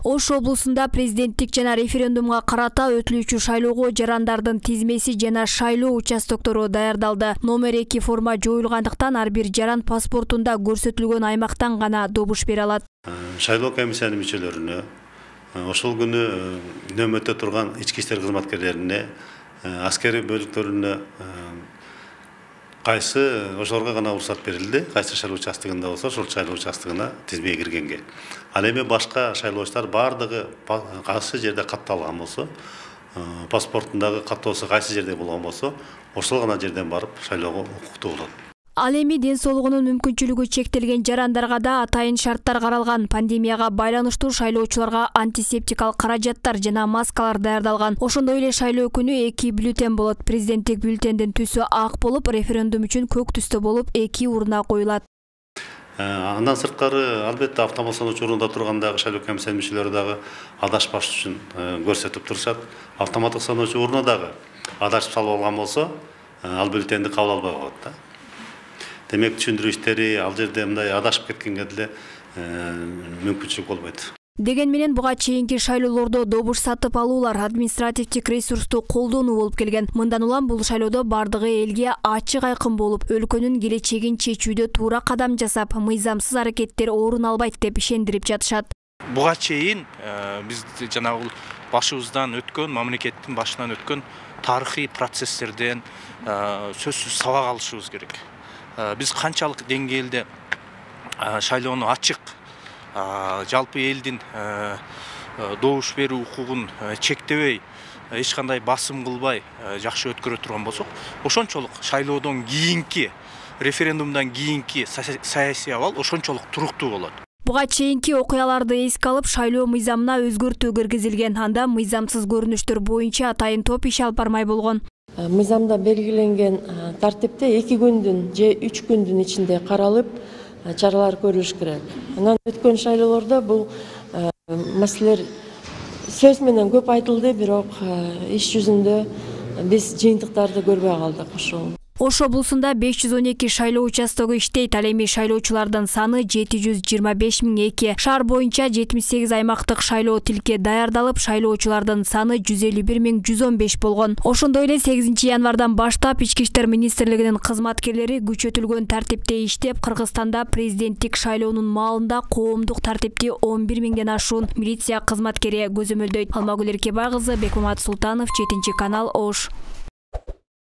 Ош облусунда президенттик жана референдумга карата өтүлүүчү шайлоого жарандардын тизмеси жана шайлоо участоктору даярдалды. Номер 2 форма жоюлгандыктан ар бир жаран паспортунда көрсөтүлгөн аймактан гана добуш бере алат. Шайлоо комиссиянын мүчөлөрүнө, ошол күнү нөмөттө турган ички иштер кызматкерлерине, аскери бөлүктөрүнө кайсы ошолорго гана уруксат берилди. Кайсы шайлоо участогунда болсо, ошол шайлоо участогуна тизмеге киргенге. Ал эми башка шайлоочулар бардыгы кайсы жерде катталган болсо, паспортундагы каттоосу кайсы жерде болгон болсо, ошол гана жерден барып шайлоого укуктуу болот. Ал эми ден соолугунун мүмкүнчүлүгү чектелген жарандарга да атайын шарттар каралган. Пандемияга байланыштуу шайлоочуларга антисептикалык каражаттар жана маскалар даярдалган. Ошондой эле шайлоо күнү 2 бюллетень болот. Президенттик бюллетендин түсү ак болуп, референдум үчүн көк түстө болуп 2 урна коюлат. Андан сырткары албетте автомат саноочу орунда тургандагы шайлоо комиссиянын мүчөлөрү дагы адашпаш үчүн көрсөтүп турушат. Автоматтык саноочу урна дагы адашып салып алган болсо, ал бюллетенди кабыл албай коет да. Демек түшүндүрүү иштери ал жерде мындай адашып кеткенге деле мүмкүнчүлүк болбойт. Деген менен буга чейинки шайлоолордо добуш сатып алуулар административдик ресурсту колдонуу болуп келген. Мындан улам бул шайлоодо бардыгы элге ачык айкын болуп, өлкөнүн келечегин чечүүдө туура кадам жасап, мыйзамсыз аракеттер орун албайт деп ишендирип жатышат. Буга чейин биз жанагы башыбыздан өткөн, мамлекеттин башынан өткөн тарыхый процесстерден сөзсүз сабак алышыбыз керек. Биз канчалык деңгээлде шайлоону ачык, жалпы элдин добуш берүү укугун чектебей, эч кандай басым кылбай жакшы өткөрө турган болсок, ошончолук шайлоодон кийинки, референдумдан кийинки саясий абал ошончолук туруктуу болот. Буга чейинки окуяларды эске алып, шайлоо мыйзамына өзгөртүү киргизилген. Анда мыйзамсыз көрүнүштөр боюнча атайын топ иш алып бармай болгон. Мыйзамда белгиленген тартипте 2 күндүн же 3 күндүн ичинде каралып, чаралар көрүлүш керек. Анан өткөн шайлоолордо бул маселелер сөз менен көп айтылды, бирок иш жүзүндө биз жыйынтыктарды көрбөй калдык. Ош облусунда 512 шайлоо участогу иштейт. Ал эми шайлоочулардын саны 725.002. Шаар боюнча 78 аймактык шайлоо тилке даярдалып, шайлоочулардын саны 151.115 болгон. Ошондой эле 8 январдан баштап Ички иштер министрлигинин кызматкерлери күчөтүлгөн тартипте иштеп, Кыргызстанда президенттик шайлоонун маалында коомдук тартипти 11.000ден ашуун милиция кызматкери көзөмөлдөйт. Алмагүл Эркебай кызы, Бекмамат Султанов, 7 канал, Ош.